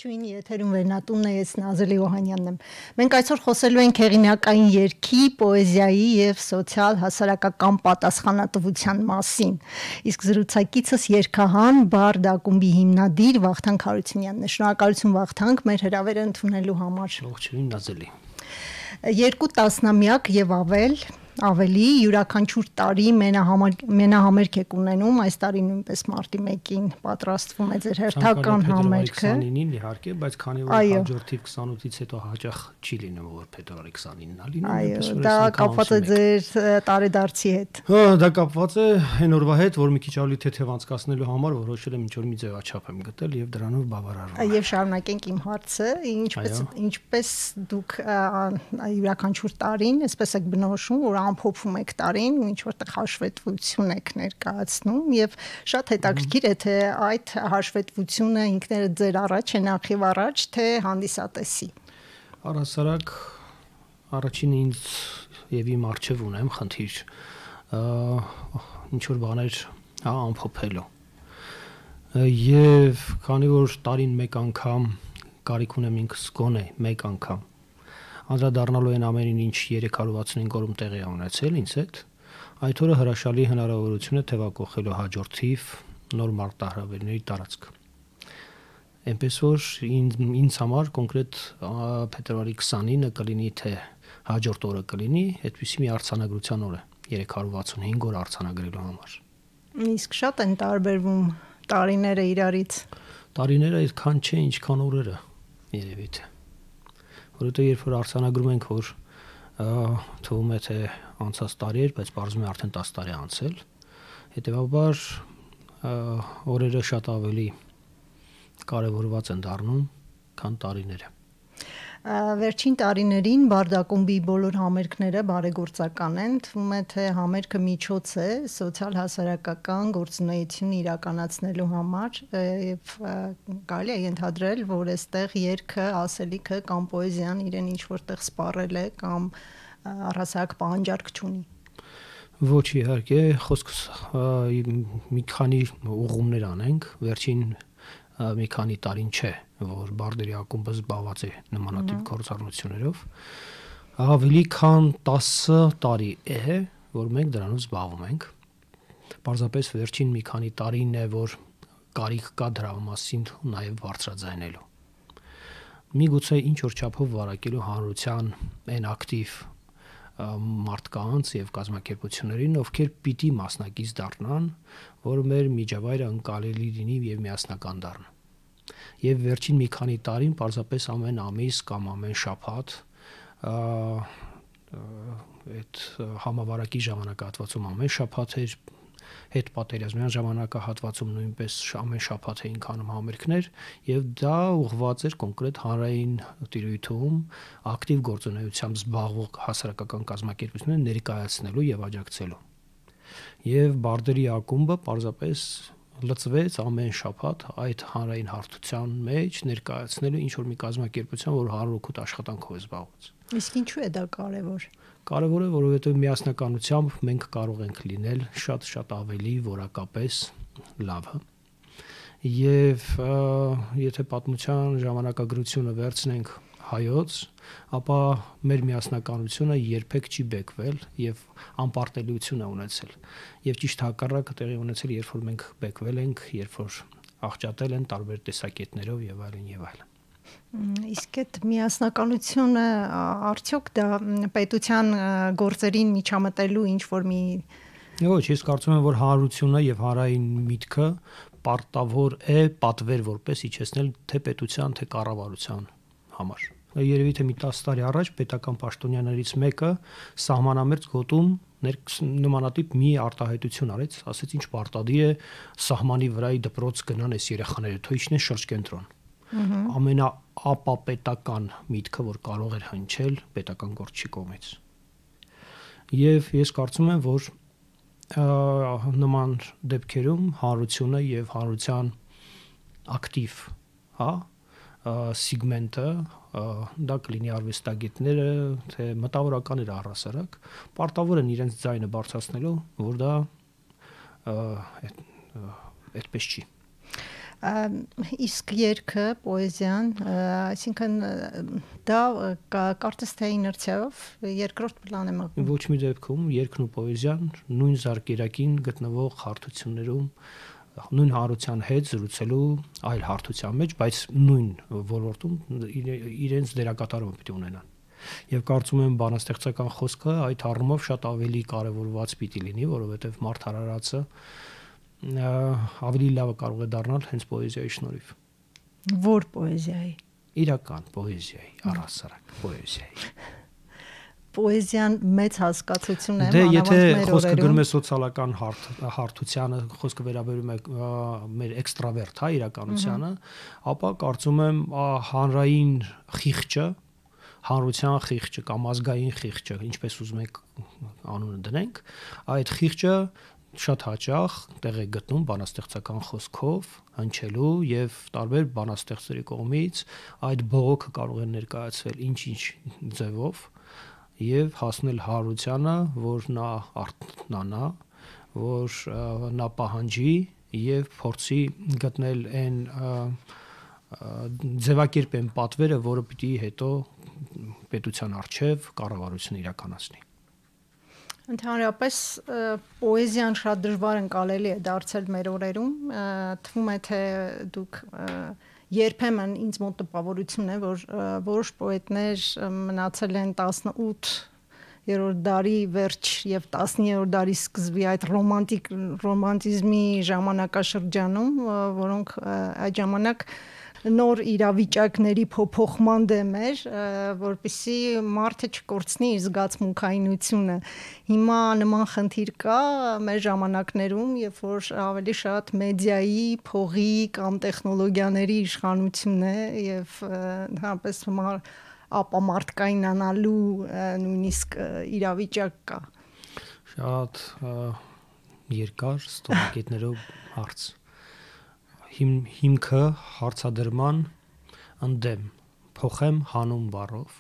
Ողջույն, եթերում վերնատունն է, ես Նազելի Օհանյանն եմ։ Մենք այսօր խոսելու ենք հեղինակային երգի, պոեզիայի եւ սոցիալ հասարակական պատասխանատվության մասին։ Իսկ զրուցակիցս երգահան Բարդ ակումբի հիմնադիր Վախթանգ Հարությունյանն է։ Շնորհակալություն Վախթանգ մեր հրավերը ընդունելու համար։ Ողջույն Նազելի։ 2 տասնամյակ եւ ավելի յուրաքանչյուր տարի մենահամերգ եք ունենում, այս տարի նույնպես մարտի 1-ին պատրաստվում է ձեր հերթական համերգը։ 29-ին իհարկե, բայց քանի որ հաջորդիվ 28-ից հետո հաճախ չի լինում, որ փետրվարի 29-ին է լինում, այո, դա կապված է ձեր տարեդարձի հետ։ Դա կապված է այն օրվա հետ, որ մի քիչ ավելի թեթև անցկացնելու համար որոշել եմ ինչ-որ մի ձևաչափ եմ գտել եւ դրանով բավարարվում։ Եվ շարունակենք իմ հարցը, ինչպես դուք յուրաքանչյուր տարին, այսպես եք բնորոշում, որ ամփոփում եք տարին ու ինչ որտեղ հաշվետվություն եք ներկայացնում եւ շատ հետաքրքիր է թե այդ հաշվետվությունը ինքներդ ձեր առաջ է նախիվ առաջ թե հանդիսատեսի։ Առհասարակ առաջինը ինձ եւ իմ արժեվ ունեմ խնդիր ինչ որ բաներ ամփոփելու եւ քանի որ տարին մեկ անգամ կարիք ունեմ ինքս գոնե մեկ անգամ անդրադառնալու են ամենին ինչ 365 օրում տեղի է ունեցել ինձ հետ, այդ օրը հրաշալի հնարավորություն է թևակողելու հաջորդիվ նոր մարտահրավերների տարածք։ Այնպես որ ինձ համար կոնկրետ փետրվարի 29-ը կլինի թե հաջորդ օրը կլինի, այդպիսի մի արձանագրության օր է 365 օր արձանագրելու համար։ Իսկ շատ են տարբերվում տարիները իրարից։ Տարիները այդքան չէ, ինչքան օրերը երևի թե։ Որովհետեւ երբ որ արձանագրում ենք, որ թվում է թե անցած տարի էր, բայց բարձում է արդեն 10 տարի անցել, հետեւաբար օրերը շատ ավելի կարևորված են դառնում, քան տարիները։ Վերջին տարիներին Բարդ ակումբի բոլոր համերգները բարեգործական են, թվում է թե համերգը միջոց է սոցիալ հասարակական գործունեություն իրականացնելու համար եւ կարելի է ենթադրել, որ այստեղ երգը, ասելիքը կամ պոեզիան իրեն ինչ որտեղ սպառել է կամ առհասարակ պահանջարկ չունի։ Ոչ իհարկե, խոսքս մի քանի ուղումներ անենք, վերջին մի քանի տարին չէ, որ Բարդերի ակումբը զբաղված է նմանատիպ գործառույթներով, ավելի քան 10 տարի է, որ մենք դրանով զբաղվում ենք։ Պարզապես վերջին մի քանի տարին է, որ կարիք կա դրա մասին նաև բարձրաձայնելու։ Միգուցե ինչ որ չափով վարակելու հանրության այն ակտիվ մարդկանց եւ կազմակերպություններին, ովքեր պիտի մասնակից դառնան, որ մեր միջավայրը ընկալելի լինի եւ միասնական դառնա։ Եվ վերջին մի քանի տարին պարզապես ամեն ամիս կամ ամեն շաբաթ այդ համավարակի ժամանակահատվածում ամեն շաբաթ էր, հետ պատերազմյան ժամանակահատվածում նույնպես ամեն շաբաթ էին կանում համերգներ եւ դա ուղղված էր կոնկրետ հանրային տիրույթում ակտիվ գործունեությամբ զբաղվող հասարակական կազմակերպությունները ներկայացնելու եւ աջակցելու։ Եվ Բարդերի ակումբը պարզապես լծվեց ամեն շաբաթ այդ հանրային հարթության մեջ ներկայացնելու ինչ որ մի կազմակերպություն, որ հանրօգուտ աշխատանքով է զբաղված։ Իսկ ինչու է դա կարևոր։ Կարևոր է, որովհետև միասնականությամբ մենք կարող ենք լինել շատ ավելի որակապես լավը։ Եվ եթե պատմության ժամանակագրությունը վերցնենք հայոց, ապա մեր միասնականությունը երբեք չի բեկվել եւ անպարտելիություն է ունեցել։ Եվ ճիշտ հակառակը տեղի ունեցել, երբ որ մենք բեկվել ենք, երբ որ աղճատել են տարբեր տեսակետներով եւ այլն եւ այլն։ Իսկ այդ միասնականությունը արդյոք դա պետության գործերին միջամտելու ինչ որ մի Ոչ, ես կարծում եմ, որ հանրությունը եւ հանրային միտքը պարտավոր է պատվեր որպես իջեցնել թե պետության, թե կառավարության համար։ Երևի թե մի 10 տարի առաջ պետական պաշտոնյաներից մեկը սահմանամերձ գոտում նմանատիպ մի արտահայտություն արեց, ասեց ինչ պարտադիր է սահմանի վրայի դպրոց գնան այս երեխաները, թող իջնեն շրջկենտրոն։ Ամենաապապետական միտքը, որ կարող էր հնչել պետական գործչի կողմից։ Եվ ես կարծում եմ, որ նման դեպքերում հանրությունը եւ հանրության ակտիվ, սիգմենտը, դա կլինի արվեստագետները, թե մտավորականները առհասարակ, պարտավոր են իրենց ձայնը բարձրացնելու, որ դա այդպես չի։ Իսկ երգը, պոեզիան, այսինքն դա կարծես թե իներցիայով երկրորդ պլան է մղում։ Ոչ մի դեպքում երգն ու պոեզիան նույն զարկերակին գտնվող հարթություններում նույն հարության հետ զրուցելու այլ հարթության մեջ, բայց նույն ոլորտում իրենց դերակատարումը պիտի ունենան։ Եվ կարծում եմ բանաստեղծական խոսքը այդ առումով շատ ավելի կարևորված պիտի լինի, որովհետև մարդ արարածը ավելի լավը կարող է դառնալ հենց պոեզիայի շնորհիվ։ Որ պոեզիայի։ Իրական պոեզիայի, առհասարակ պոեզիայի։ Պոեզիան մեծ հասկացություն է, մանավանդ մեր օրերում։ Եթե խոսքը գրում է սոցիալական հարթությանը, խոսքը վերաբերում է մեր էքստրավերտ, հա, իրականությանը, ապա կարծում եմ հանրային խիղճը, հանրության խիղճը կամ ազգային խիղճը, ինչպես ուզում եք անունը դնենք, այդ խիղճը շատ հաճախ տեղ է գտնում բանաստեղծական խոսքով հնչելու եւ տարբեր բանաստեղծերի կողմից այդ բողոքը կարող է ներկայացվել ինչ-ինչ ձևով եւ հասնել հարությանը, որ նա արթնանա, որ նա պահանջի եւ փորձի գտնել այն ձևակերպեն պատվերը, որը պիտի հետո պետության արչեւ կառավարությունը իրականացնի։ Ընդհանրապես պոեզիան շատ դժվար ընկալելի է դարձել մեր օրերում, թվում է թե դուք երբեմն ինձ մոտ տպավորություն է, որ որոշ պոետներ մնացել են 18-րդ դարի վերջ եւ 19-րդ դարի սկզբի այդ ռոմանտիզմի ժամանակաշրջանում, որոնք այդ ժամանակ նոր իրավիճակների փոփոխման դեմ էր, որպեսզի մարդը չկորցնի իր զգացմունքայինությունը։ Հիմա նման խնդիր կա մեր ժամանակներում, երբ որ ավելի շատ մեդիայի, փողի կամ տեխնոլոգիաների իշխանություն է եւ հապես ապամարտկայինանալու նույնիսկ իրավիճակ կա։ Շատ երկար ստորակետներով հարց։ Հիմքը հարցադրման ընդդեմ փոխեմ հանուն բառով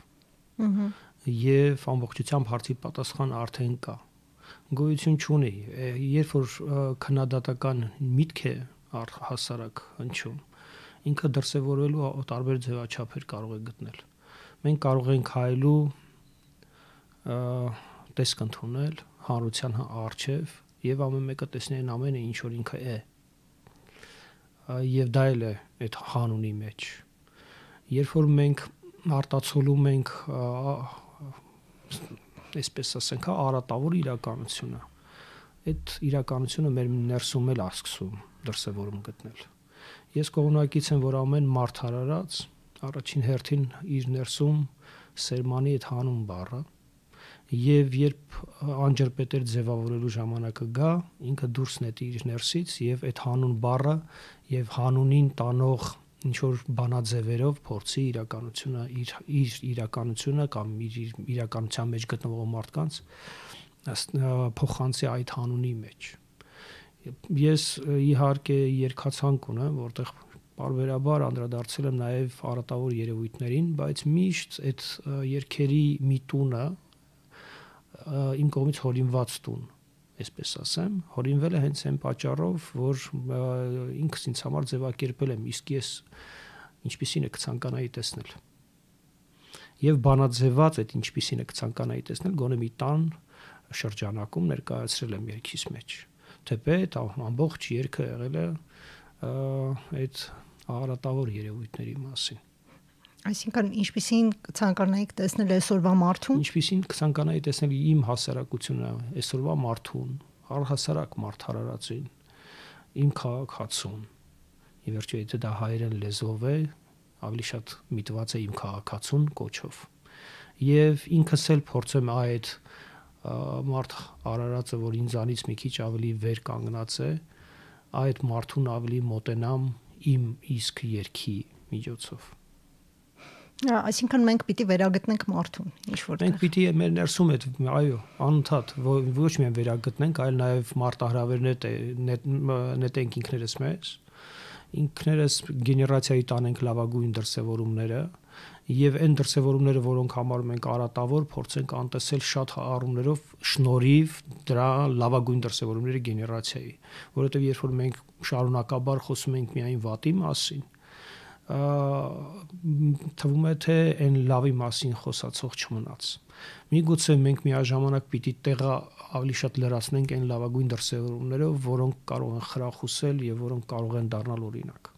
եւ ամբողջությամբ հարցի պատասխան արդեն կա, գոյություն չունի, երբ որ քննադատական միտք է հասարակ հնչում, ինքը դրսևորվելու տարբեր ձևաչափեր կարող է գտնել։ Մենք կարող ենք հայելու տեսք ընդունել հանրության առջև եւ ամեն մեկը տեսնի այն ամենը, ինչ որ ինքը է, եւ դա էլ է այդ հանունի մեջ։ Երբ որ մենք արտացոլում ենք այսպես ասենք, արատավոր իրականությունը, այդ իրականությունը մեր ներսում էլ ասկսում դրսևորում գտնել։ Ես կողմնակից եմ, որ ամեն մարդ արարած առաջին հերթին իր ներսում սերմանի այդ հանուն բառը, եւ երբ անջրպետեր ձևավորելու ժամանակը գա, ինքը դուրս նետի իր ներսից եւ այդ հանուն բառը եւ հանունին տանող ինչ որ բանաձևերով փորձի իրականությունը իր իրականությունը կամ իր իրականության մեջ գտնվող մարդկանց փոխանցի այդ հանունի մեջ։ Ես իհարկե երկացանք ունեմ, որտեղ բարբերաբար անդրադարձել եմ նաեւ արատավոր երևույթներին, բայց միշտ այդ երկերի միտունը իմ կողմից հորինված տուն, այսպես ասեմ, հորինվել է հենց այն պատճառով, որ ինքս ինձ համար ձևակերպել եմ, իսկ ես ինչպիսին է կցանկանայի տեսնել։ Եվ բանաձևված այդ ինչպիսին է կցանկանայի տեսնել, գոնե մի տան շրջանակում ներկայացրել եմ երգիս մեջ։ Թեպետ ամբողջ երգը եղել է այդ արատավոր երևույթների մասին։ Այսինքն ինչպիսին ցանկանայիք տեսնել այսօրվա մարդուն։ Ինչպիսին ցանկանայի տեսնել իմ հասարակությունը, այսօրվա մարդուն, առհասարակ մարդ հարարածին, իմ քաղաքացուն։ Ի վերջո եթե դա հայերեն լեզվով է, ավելի շատ միտված է իմ քաղաքացուն կոչով։ Եվ ինքս էլ փորձեմ այդ մարդ արարածը, որ ինձանից մի քիչ ավելի վեր կանգնած է, այդ մարդուն ավելի մոտենամ իմ իսկ երգի միջոցով։ Այսինքն մենք պիտի վերագտնենք մարդուն, ինչ որտեղ։ Մենք պիտի մեր ներսում այդ, այո, անընդհատ ոչ միայն վերագտնենք, այլ նաև մարտահրավերներ նետենք ինքներս մեզ, ինքներս գեներացիայի տանենք լավագույն դրսևորումները եւ այն դրսեւորումները, որոնք համարում ենք արատավոր, փորձենք անտեսել շատ առումներով շնորհիվ դրա լավագույն դրսեւորումների գեներացիայի, որովհետեւ երբ որ մենք շարունակաբար խոսում ենք միայն վատի մասին, թվում է թե այն լավի մասին խոսացող չմնաց։ Միգուցե մենք միաժամանակ պիտի տեղը ավելի շատ լրացնենք այն լավագույն դրսեւորումներով, որոնք կարող են խրախուսել եւ որոնք կարող են դառնալ օրինակ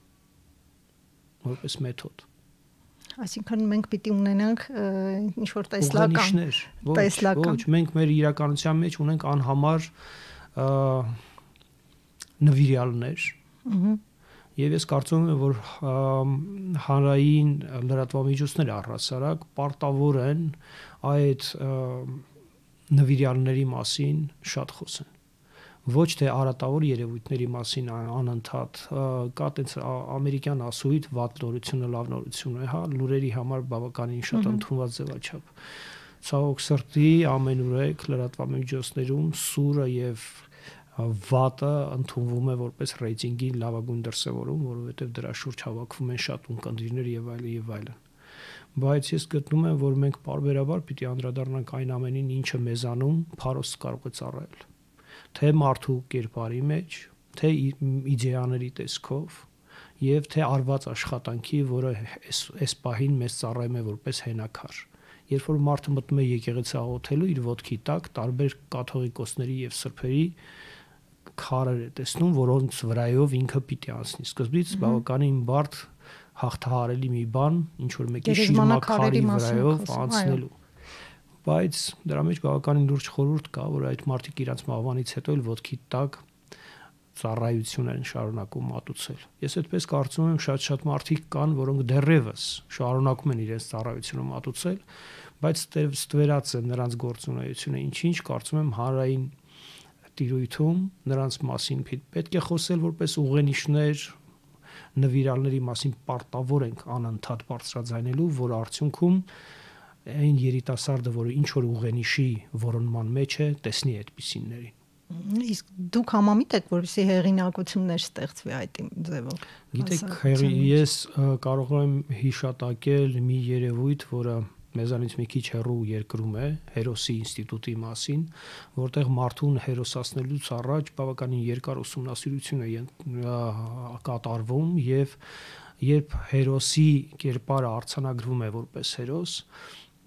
որպես մեթոդ։ Այսինքն մենք պիտի ունենանք ինչ որ տեսլական, ոչ, մենք մեր իրականության մեջ ունենք անհամար նվիրյալներ։ Եվ ես կարծում եմ, որ հանրային լրատվամիջոցները առհասարակ պարտավոր են այդ նվիրյալների մասին շատ խոսեն։ Ոչ թե արատավոր երևույթների մասին անընդհատ կա տենց ամերիկյան ասույթ վատ նորությունը լավ նորություն է, հա, լուրերի համար բավականին շատ ընդունված ձևաչափ։ Ցավոք սրտի ամենուրեք լրատվամիջոցներում սուրը եւ վատը ընդունվում է որպես ռեյտինգի լավագույն դրսևորում, որովհետեւ դրա շուրջ հավաքվում են շատ ունկնդիրներ եւ այլն եւ այլն։ Բայց ես գտնում եմ, որ մենք բարբերաբար պիտի անդրադառնանք այն ամենին, ինչը մեզանում փարոս կարող է ծառայել։ Թե մարդու կերպարի մեջ, թե իդեաների տեսքով եւ թե արված աշխատանքի, որը այս պահին մեզ ծառայում է որպես հենակար։ Երբ որ մարդը մտնում է եկեղեցի աղոթելու, իր ոտքի տակ տարբեր կաթողիկոսների եւ սրբերի քարեր է տեսնում, որոնց վրայով ինքը պիտի անցնի։ Սկզբից բավականին բարդ հաղթահարելի մի բան, ինչ որ մեկի շիրմաքարի վրայով անցնելու։ Բայց դրա մեջ բավականին լուրջ խորհուրդ կա, որ այդ մարդիկ իրանց մահվանից հետո էլ ոտքի տակ ծառայություն են շարունակում մատուցել։ Ես այդպես կարծում եմ, շատ մարդիկ կան, որոնք դեռևս շարունակում են իրենց ծառայությունը մատուցել, բայց ստվերած է նրանց գործունեությունը, ինչ կարծում եմ հանրային տիրույթում նրանց մասին պետք է խոսել որպես ուղենիշներ, նվիրալների մասին պարտավոր ենք անընդհատ բարձրաձայնելու, որ արդյունքում այն երիտասարդը, որը ինչ որ ուղենիշի որոնման մեջ է, տեսնի այդպիսիներին։ Իսկ դուք համամիտ եք, որպեսզի հեղինակություններ ստեղծվի այդ ձևով։ Գիտեք, ես կարող եմ հիշատակել մի երևույթ, որը մեզանից մի քիչ հեռու երկրում է, Հերոսի ինստիտուտի մասին, որտեղ մարդուն հերոսացնելուց առաջ բավականին երկար ուսումնասիրություն է կատարվում եւ երբ հերոսի կերպարը արձանագրվում է որպես հերոս,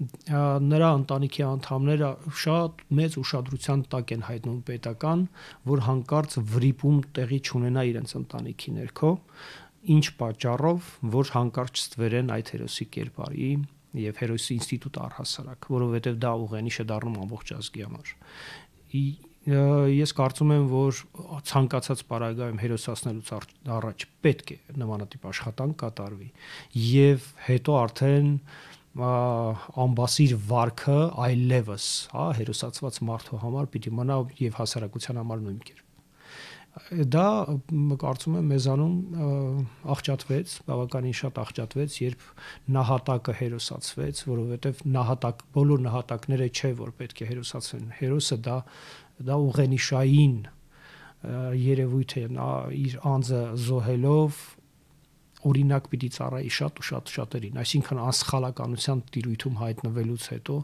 նրա ընտանիքի անդամները շատ մեծ ուշադրության տակ են հայտնում պետական, որ հանկարծ վրիպում տեղի չունենա իրենց ընտանիքի ներքո, ինչ պատճառով, որ հանկարծ ստվերեն այդ հերոսի կերպարի եւ հերոսի ինստիտուտ առհասարակ, որովհետեւ դա ուղենիշ է դառնում ամբողջ ազգի համար։ Ես կարծում եմ, որ ցանկացած պարագայում հերոսացնելուց առաջ պետք է նմանատիպ աշխատանք կատարվի եւ հետո արդեն ամբասիր վարքը այլևս, հա, հերոսացված մարդու համար պիտի մնա եւ հասարակության համար նույն կերպ։ Դա կարծում եմ մեզանում աղճատվեց, բավականին շատ աղճատվեց, երբ նահատակը հերոսացվեց, որովհետև բոլոր նահատակները չէ, որ պետք է հերոսացվեն։ Հերոսը դա ուղենիշային երևույթ է, նա իր անձը զոհելով օրինակ պիտի ծառայի շատ ու շատ շատերին, այսինքն անսխալականության տիրույթում հայտնվելուց հետո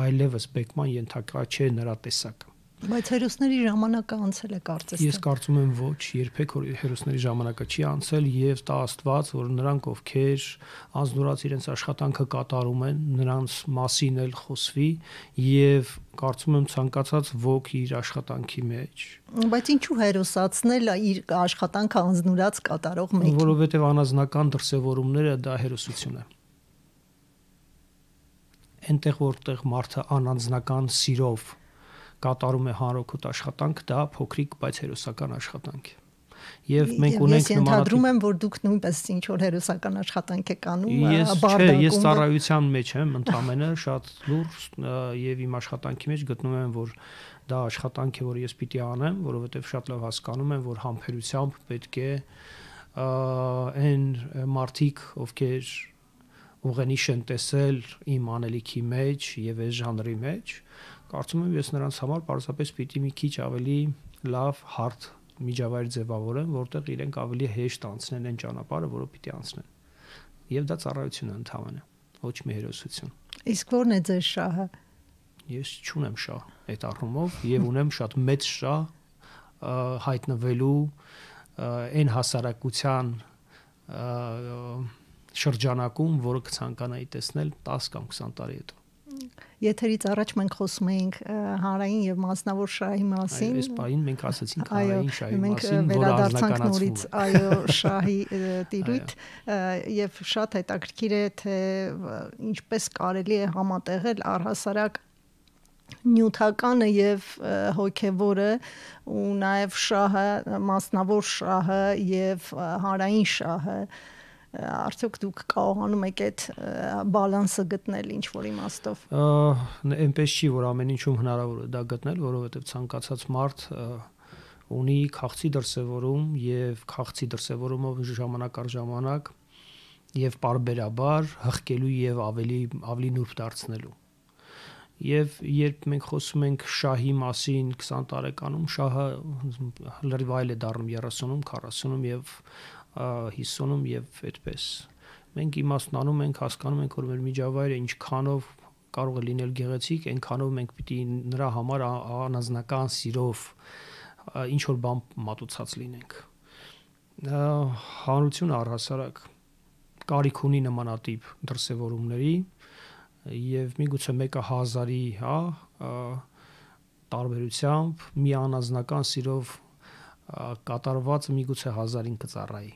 այլևս բեկման ենթակա չէ նրա տեսակը։ Բայց հերոսների ժամանակը անցել է կարծես։ Ես կարծում եմ ոչ, երբեք հերոսների ժամանակը չի անցել եւ տա Աստված, որ նրանք ովքեր անձնուրաց իրենց աշխատանքը կատարում են, նրանց մասին էլ խոսվի եւ կարծում եմ ցանկացած ոք իր աշխատանքի մեջ։ Բայց ինչու հերոսացնել իր աշխատանքը անձնուրաց կատարող մեկին։ Որովհետեւ անազնական դրսևորումները դա հերոսություն է։ Այնտեղ որտեղ մարդը անանձնական սիրով կատարում է հանրօգուտ աշխատանք, դա փոքրիկ, բայց հերոսական աշխատանք է։ Եվ մենք ունենք նմանատիպ։ Ես ընդհանրում եմ, որ դուք նույնպես ինչ որ հերոսական աշխատանք եք անում, բարձրակում։ Ես ծառայության մեջ եմ, ընդամենը շատ լուրջ եւ իմ աշխատանքի մեջ գտնում եմ, որ դա աշխատանք է, որ ես պիտի անեմ, որովհետեւ շատ լավ հասկանում եմ, որ համբերությամբ պետք է այն մարդիկ, ովքեր ուղենիշ են տեսել իմ անելիքի մեջ եւ այս ժանրի մեջ, կարծում եմ ես նրանց համար պարզապես պիտի մի քիչ ավելի լավ հարթ միջավայր ձևավորեն, որտեղ իրենք ավելի հեշտ անցնեն այն ճանապարհը, որը պիտի անցնեն։ Եվ դա ծառայություն է ընդհանրապես։ ոչ մի հերոսություն։ Իսկ ո՞րն է ձեր շահը։ Ես չունեմ շահ այդ առումով եւ ունեմ շատ մեծ շահ հայտնվելու այն հասարակության շրջանակում, որը կցանկանայի տեսնել 10 կամ 20 տարի հետո։ Եթերից առաջ մենք խոսում էինք հանրային եւ մասնավոր շահի մասին։ Այս բանին մենք ասացինք հանրային շահի մասին, որը վերադարձանք նորից շահի տիրույթ եւ շատ հետաքրքիր է թե ինչպես կարելի է համատեղել առհասարակ նյութականը եւ հոգեվորը ու նաեւ շահը, մասնավոր շահը եւ հանրային շահը, արդյոք դուք կարողանում եք այդ բալանսը գտնել ինչ որ իմաստով։ Այնպես չի, որ ամեն ինչում հնարավոր է դա գտնել, որովհետեւ ցանկացած մարդ ունի քաղցի դրսևորում եւ քաղցի դրսևորումով ժամանակ առ ժամանակ եւ պարբերաբար հղկելու եւ ավելի նուրբ դարձնելու։ Եվ երբ մենք խոսում ենք շահի մասին 20 տարեկանում, շահը լրիվ այլ է դառնում 30-ում, 40-ում եւ 50-ում եւ այդպես։ Մենք իմաստնանում ենք, հասկանում ենք, որ մեր միջավայրը ինչքանով կարող է լինել գեղեցիկ, այնքանով մենք պիտի նրա համար անազնական սիրով ինչ որ բան մատուցած լինենք։ Հանրությունը առհասարակ կարիք ունի նմանատիպ դրսևորումների եւ միգուցե մեկը 1000-ի, տարբերությամբ մի անազնական սիրով կատարված միգուցե 1000-ին կծառայի։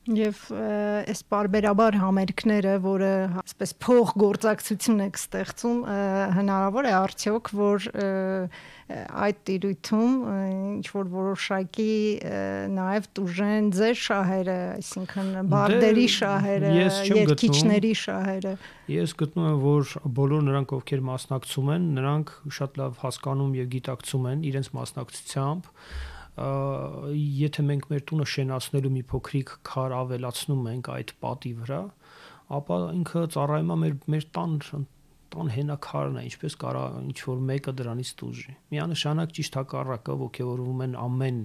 Եվ այս բարբերաբար համերգները, որը այսպես փող գործակցություն եք ստեղծում, հնարավոր է արդյոք, որ այդ տիրույթում ինչ որ որոշակի նաև տուժեն ձեր շահերը, այսինքն բարդերի շահերը, երգիչների շահերը։ Ես գտնում եմ, որ բոլոր նրանք, ովքեր մասնակցում են, նրանք շատ լավ հասկանում եւ գիտակցում են իրենց մասնակցությամբ եթե մենք մեր տունը շենացնելու մի փոքրիկ քար ավելացնում ենք այդ պատի վրա, ապա ինքը ծառայում է մեր տան հենակարն է, ինչպես կարա ինչ որ մեկը դրանից տուժի։ Միանշանակ ճիշտ հակառակը ողջևորվում են ամեն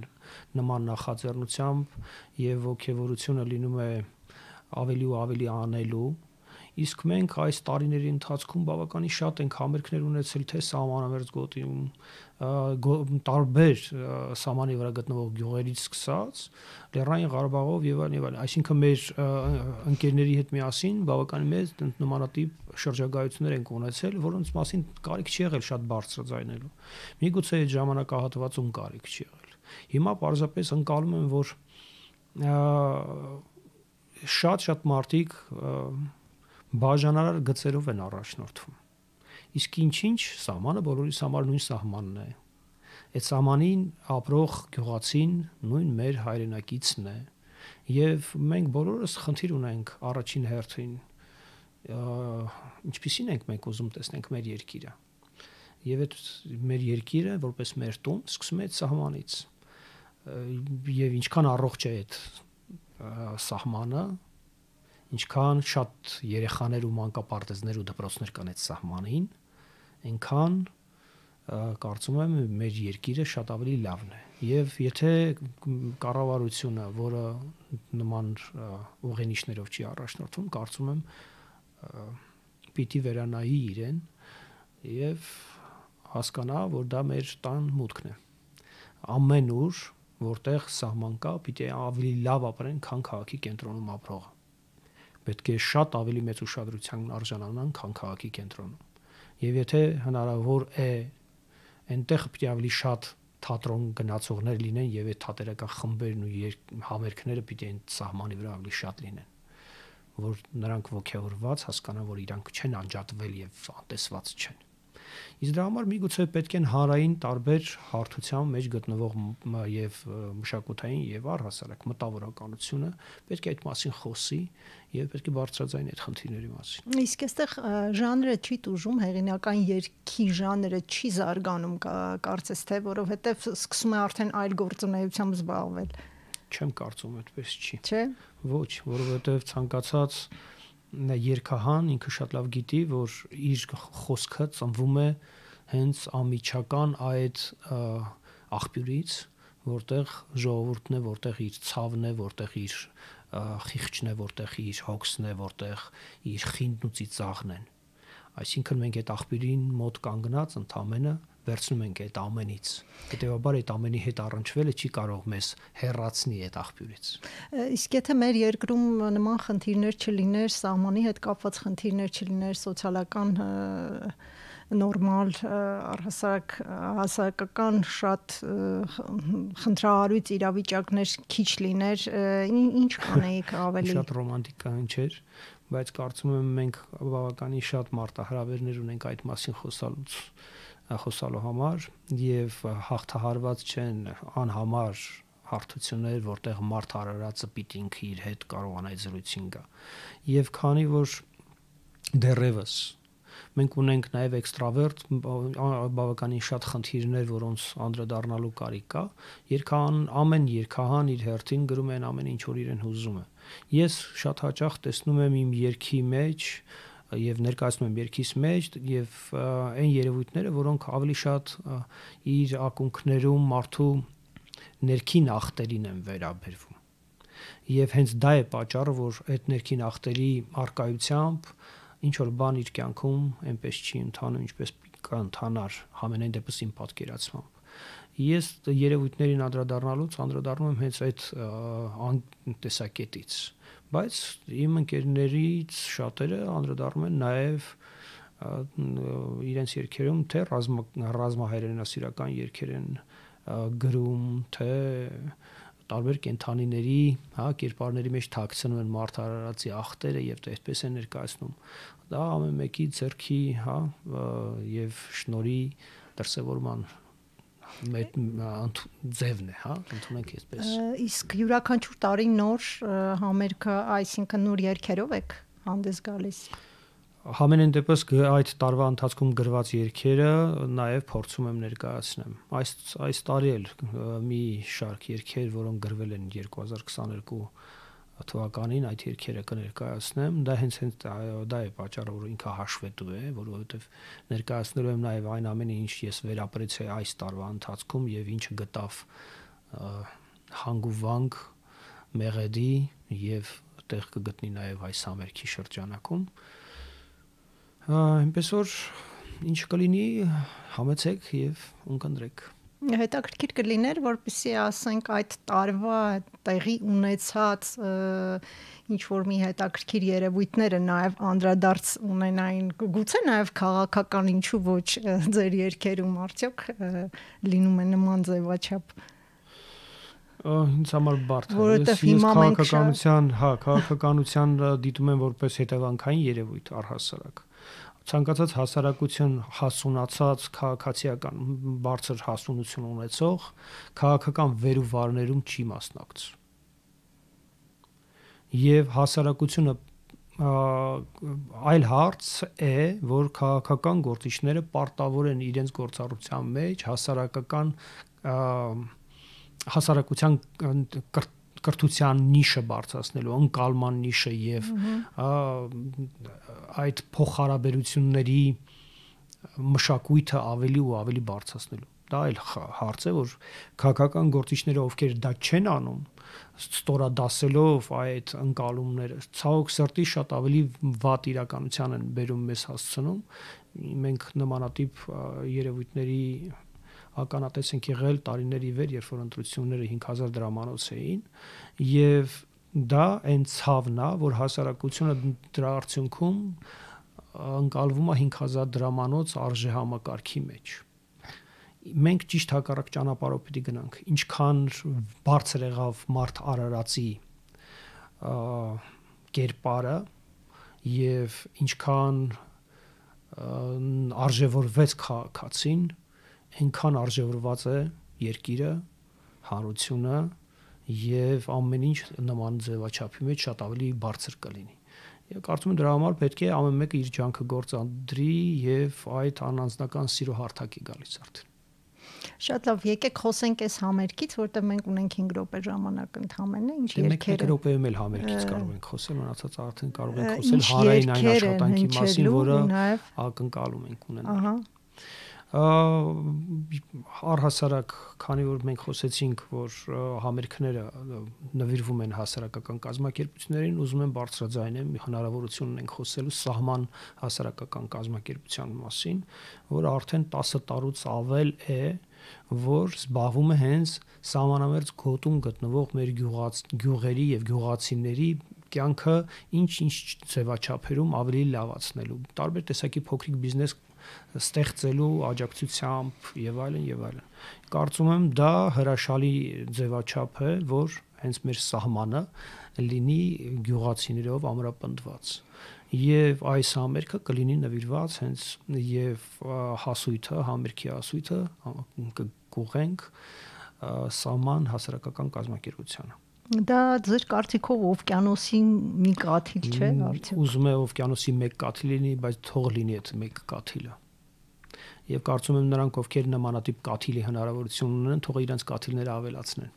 նման նախաձեռնությամբ եւ ողջևորությունը լինում է ավելի ու ավելի անելու։ Իսկ մենք այս տարիների ընթացքում բավականին շատ ենք համերգներ ունեցել թե սահմանամերձ գոտիում, տարբեր սահմանի վրա գտնվող գյուղերից սկսած, Լեռնային Ղարաբաղով եւ այլն, այսինքն մեր ընկերների հետ միասին բավականին մեծ նմանատիպ շրջագայություններ ենք ունեցել, որոնց մասին կարիք չի եղել շատ բարձրաձայնելու։ Միգուցե այդ ժամանակահատվածում կարիք չի եղել։ Հիմա պարզապես ընկալում եմ, որ շատ մարդիկ բաժանարար գծերով են առաջնորդվում։ Իսկ ինչ սահմանը բոլորիս համար նույն սահմանն է։ Այդ սահմանին ապրող գյուղացին նույն մեր հայրենակիցն է։ Եվ մենք բոլորս խնդիր ունենք առաջին հերթին ինչպիսին ենք մենք ուզում տեսնենք մեր երկիրը։ Եվ այդ մեր երկիրը որպես մեր տուն սկսում է այդ սահմանից։ Եվ ինչքան առողջ է այդ սահմանը, ինչքան շատ երեխաներ ու մանկապարտեզներ ու դպրոցներ կան այդ սահմանին, այնքան կարծում եմ մեր երկիրը շատ ավելի լավն է։ Եվ եթե կառավարությունը, որը նման ուղենիշներով չի առաջնորդվում, կարծում եմ պիտի վերանայի իրեն եւ հասկանա, որ դա մեր տան մուտքն է։ Ամեն ուր, որտեղ սահման կա, պիտի ավելի լավ ապրեն, քան քաղաքի կենտրոնում ապրողը։ Պետք է շատ ավելի մեծ ուշադրության արժանանան, քան քաղաքի կենտրոնում։ Եվ եթե հնարավոր է, այնտեղ պիտի ավելի շատ թատրոն գնացողներ լինեն եւ այդ թատերական խմբերն ու համերգները պիտի այն սահմանի վրա ավելի շատ լինեն, որ նրանք ողջավորված հասկանան, որ իրանք չեն անջատվել եւ անտեսված չեն։ Իսկ դրա համար միգուցե պետք են հանրային տարբեր հարթության մեջ գտնվող եւ մշակութային եւ առհասարակ մտավորականությունը պետք է այդ մասին խոսի եւ պետք է բարձրաձայնի այդ խնդիրների մասին։ Իսկ այստեղ ժանրը չի տուժում, հեղինական երգի ժանրը չի զարգանում, կարծես թե, որովհետեւ սկսում է արդեն այլ գործունեությամբ զբաղվել։ Չեմ կարծում, այդպես չի։ Չէ։ Ոչ, որովհետեւ ցանկացած երգահան ինքը շատ լավ գիտի, որ իր խոսքը ծնվում է հենց անմիջական այդ աղբյուրից, որտեղ ժողովուրդն է, որտեղ իր ցավն է, որտեղ իր խիղճն է, որտեղ իր հոգսն է, որտեղ իր խինդն ու ծիծաղն են։ Այսինքն մենք այդ աղբյուրին մոտ կանգնած ընդամենը վերցնում ենք այդ ամենից։ Հետևաբար այդ ամենի հետ առնչվելը չի կարող մեզ հեռացնի այդ աղբյուրից։ Իսկ եթե մեր երկրում նման խնդիրներ չլիներ, սահմանի հետ կապված խնդիրներ չլիներ, սոցիալական նորմալ հասարակական շատ խնդրահարույց իրավիճակներ քիչ լիներ, ինչ կանեիք ավելի։ Շատ ռոմանտիկային չէր, բայց կարծում եմ մենք բավականին շատ մարտահրավերներ ունենք այդ մասին խոսալու համար եւ հաղթահարված չեն անհամար հարթություններ, որտեղ մարդ արարածը պիտի ինքը իր հետ կարողանա այդ զրույցին գա։ Եվ քանի որ դեռևս մենք ունենք նաև էքստրավերտ բավականին շատ խնդիրներ, որոնց անդրադառնալու կարիք կա, ամեն երգահան իր հերթին գրում են ամեն ինչ, որ իրեն հուզում է։ Ես շատ հաճախ տեսնում եմ իմ երգի մեջ եւ ներկայացնում եմ երգիս մեջ եւ այն երևույթները, որոնք ավելի շատ իր ակունքներում մարդու ներքին ախտերին են վերաբերվում։ Եվ հենց դա է պատճառը, որ այդ ներքին ախտերի արկայությամբ ինչ որ բան իր կյանքում այնպես չի ընթանում, ինչպես կընթանար համենայն դեպս իմ պատկերացմամբ։ Ես երևույթներին անդրադառնում եմ հենց այդ տեսակետից, բայց իմ ընկերներից շատերը անդրադառնում են նաև իրենց երգերում թե ռազմահայրենասիրական երգեր են գրում, թե տարբեր կենթանիների, կերպարների մեջ թաքցնում են մարդ արարածի ախտերը եւ դա այդպես է ներկայացնում։ Դա ամեն մեկի ձեռքի, եւ շնորհի դրսևորման ձևն է, ընդունենք այսպես։ Իսկ յուրաքանչյուր տարի նոր համերգը, այսինքն նոր երգերով եք հանդես գալիս։ Համենայն դեպս այդ տարվա ընթացքում գրված երգերը նաև փորձում եմ ներկայացնեմ։ Այս տարի էլ մի շարք երգեր, որոնք գրվել են 2022 թվականին, այդ երգերը կներկայացնեմ։ Դա հենց դա է պատճառը, որ ինքը հաշվետու է, որովհետև ներկայացնելու եմ նաև այն ամենը, ինչ ես վերապրեցի այս տարվա ընթացքում եւ ինչը գտավ հանգուվանք մեղեդի եւ տեղ կգտնի նաև այս համերգի շրջանակում։ Այնպես որ ինչ կլինի, համեցեք եւ ունկնդրեք։ Հետաքրքիր կլիներ, որպեսզի ասենք այդ տարվա տեղի ունեցած ինչ որ մի հետաքրքիր երևույթները նաև անդրադարձ ունենային, գուցե նաև քաղաքական, ինչու ոչ ձեր երգերում արդյոք լինում է նման ձևաչափ։ Ինձ համար բարդ է։ Ես քաղաքականության դիտում եմ որպես հետևանքային երևույթ առհասարակ։ Ցանկացած հասարակություն հասունացած քաղաքացիական բարձր հասունություն ունեցող քաղաքական վերուվարներում չի մասնակցում։ Եվ հասարակությունը այլ հարց է, որ քաղաքական գործիչները պարտավոր են իրենց գործառույթության մեջ հասարակության կրթության նիշը բարձրացնելու, ընկալման նիշը եւ այդ փոխհարաբերությունների մշակույթը ավելի ու ավելի բարձրացնելու։ Դա այլ հարց է, որ քաղաքական գործիչները, ովքեր դա չեն անում, ստորադասելով այդ ընկալումները, ցավոք սրտի շատ ավելի վատ իրականության են բերում մեզ հասցնում։ Մենք նմանատիպ երևույթների ականատես ենք եղել տարիների վեր, երբ որ ընտրությունները 5000 դրամանոց էին, եւ դա այն ցավն է, որ հասարակությունը դրա արդյունքում ընկալվում է 5000 դրամանոց արժեհամակարգի մեջ։ Մենք ճիշտ հակառակ ճանապարհով պիտի գնանք։ Ինչքան բարձր եղավ մարդ արարածի կերպարը եւ ինչքան արժևորվեց քաղաքացին, այնքան արժևորված է երկիրը, հանրությունը եւ ամեն ինչ նման ձևաչափի մեջ շատ ավելի բարձր կլինի։ Եվ կարծում եմ դրա համար պետք է ամեն մեկը իր ջանքը գործադրի եւ այդ անանձնական սիրո հարթակի գալիս արդեն։ Շատ լավ, եկեք խոսենք այս համերգից, որտեղ մենք ունենք 5 րոպե ժամանակ ընդամենը, ինչ երգերը։ 5 րոպեում էլ համերգից կարող ենք խոսել, մնացած արդեն կարող ենք խոսել հանրային այն աշխատանքի մասին, որը ակնկալում ենք ունենալ։ Առհասարակ, քանի որ մենք խոսեցինք, որ համերգները նվիրվում են հասարակական կազմակերպություններին, ուզում եմ բարձրաձայնեմ հնարավորություն ունենք խոսելու սահման հասարակական կազմակերպության մասին, որ արդեն 10 տարուց ավել է, որ զբաղվում է հենց սահմանամերձ գոտում գտնվող մեր գյուղերի եւ գյուղացիների կյանքը ինչ-ինչ ձևաչափերում ավելի լավացնելու, տարբեր տեսակի փոքրիկ բիզնես ստեղծելու աջակցությամբ եւ այլն եւ այլն։ Կարծում եմ դա հրաշալի ձևաչափ է, որ հենց մեր սահմանը լինի գյուղացիներով ամրապնդված։ Եվ այս համերգը կլինի նվիրված հենց եւ հասույթը, համերգի հասույթը կուղենք սահման հասարակական կազմակերպությանը։ Դա ձեր կարծիքով օվկիանոսի մի կաթիլ չէ, արդյոք։ Ուզում է օվկիանոսի մեկ կաթիլ լինի, բայց թող լինի այդ մեկ կաթիլը։ Եվ կարծում եմ նրանք, ովքեր նմանատիպ կաթիլի հնարավորություն ունեն, թող իրենց կաթիլները ավելացնեն։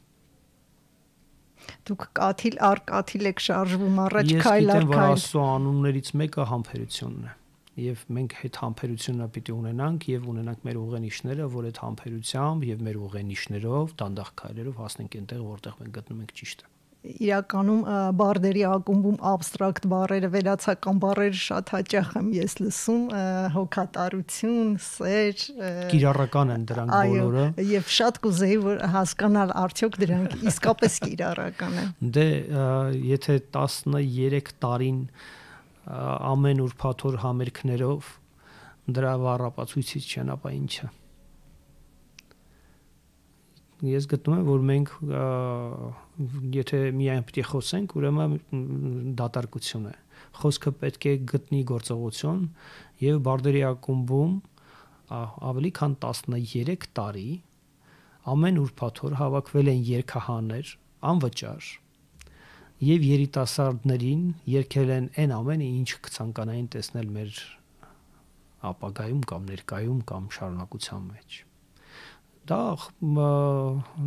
Դուք կաթիլ առ կաթիլ եք շարժվում առաջ քայլ առ քայլ։ Ես գիտեմ, որ Աստծո անուններից մեկը համբերությունն է։ Եվ մենք այդ համբերությունը պիտի ունենանք եւ ունենանք մեր ուղենիշները, որ այդ համբերությամբ եւ մեր ուղենիշներով դանդաղ քայլերով հասնենք այնտեղ, որտեղ մենք գտնում ենք ճիշտը։ Իրականում բարդերի ակումբում абստրակտ բառերը, վերացական բառերը շատ հաճախ եմ ես լսում, հոգատարություն, սեր, կիրառական են դրանք բոլորը։ Եվ շատ կուզեի որ հասկանալ արդյոք դրանք իսկապես կիրառական են։ Դե եթե 13 տարին ամեն ուրբաթ օր համերգներով դրա վառապացույցից չեն, ապա ինչը։ Ես գտնում եմ, որ մենք եթե միայն պիտի խոսենք, ուրեմն դատարկություն է։ Խոսքը պետք է գտնի գործողություն եւ բարդերի ակումբում ավելի քան 13 տարի ամեն ուրբաթ օր հավաքվել են երգահաներ անվճար եւ երիտասարդներին երգել են այն ամենը, ինչ կցանկանային տեսնել մեր ապագայում կամ ներկայում կամ շարունակության մեջ։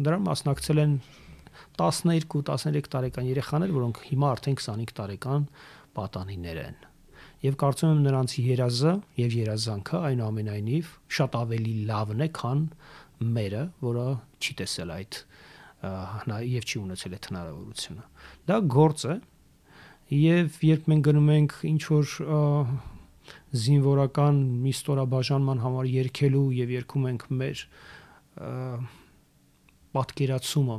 Դրան մասնակցել են 12-13 տարեկան երեխաներ, որոնք հիմա արդեն 25 տարեկան պատանիներ են։ Եվ կարծում եմ նրանց երազը եւ երազանքը այնուամենայնիվ շատ ավելի լավն է, քան մերը, որը չի տեսել այդ եւ չի ունեցել այդ հնարավորությունը։ Դա գործ է եւ երբ մենք գնում ենք ինչ որ զինվորական մի ստորաբաժանման համար երգելու եւ երգում ենք մեր պատկերացումը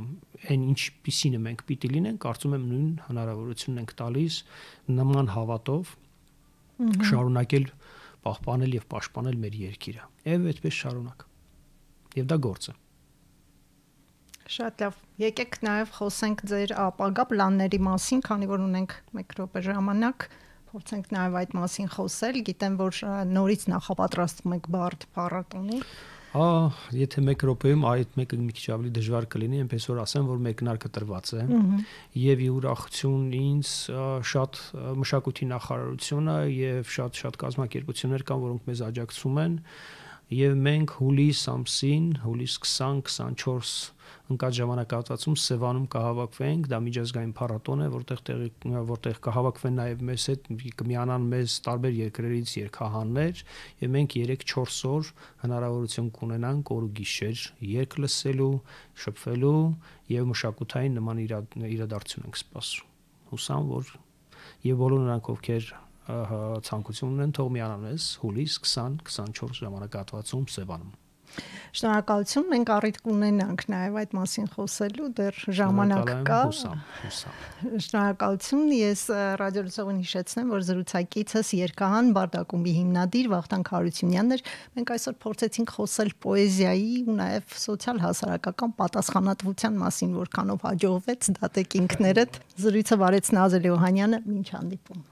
այն ինչպիսին մենք պիտի լինենք, կարծում եմ նույն հնարավորությունն ենք տալիս նման հավատով շարունակել պահպանել եւ պաշտպանել մեր երկիրը։ Եվ այդպես շարունակ։ Եվ դա գործ է։ Շատ լավ։ Եկեք նաև խոսենք ձեր ապագա պլանների մասին, քանի որ ունենք 1 րոպե ժամանակ, փորձենք նաև այդ մասին խոսել։ Գիտեմ, որ նորից նախապատրաստում եք բարդ փառատոնի։ Եթե 1 րոպեում այդ մեկը մի քիչ ավելի դժվար կլինի, այնպես որ ասեմ, որ մեկնարկը տրված է։ Եվ ի ուրախություն ինձ շատ մշակույթի նախարարությունը եւ շատ կազմակերպություններ կան, որոնք մեզ աջակցում են։ Եվ մենք հուլիս ամսին, հուլիս 20-24 ընկած ժամանակահատվածում Սևանում կհավաքվենք, դա միջազգային փառատոն է, որտեղ կհավաքվեն նաև մեզ հետ կմիանան մեզ տարբեր երկրներից երգահաններ, եւ մենք 3-4 օր հնարավորություն կունենանք օր ու գիշեր երգ լսելու, շփվելու եւ մշակութային նման իրադարձություն ենք սպասում։ Հուսամ, որ եւ բոլոր նրանք, ովքեր ցանկություն ունեն, թող միանան մեզ հուլիս 20-24 ժամանակահատվածում Սևանում։ Շնորհակալություն, մենք առիթ կունենանք նաև այդ մասին խոսելու, դեռ ժամանակ կա։ Շնորհակալություն, ես ռադիոլսողին հիշեցնեմ, որ զրուցակիցս երգահան բարդ ակումբի հիմնադիր Վախթանգ Հարությունյանն էր։ Մենք այսօր փորձեցինք խոսել պոեզիայի ու նաև սոցիալ-հասարակական պատասխանատվության մասին, որքանով հաջողվեց, դատեք ինքներդ։ Զրույցը վարեց Նազել Օհանյանը, մինչ հանդիպում։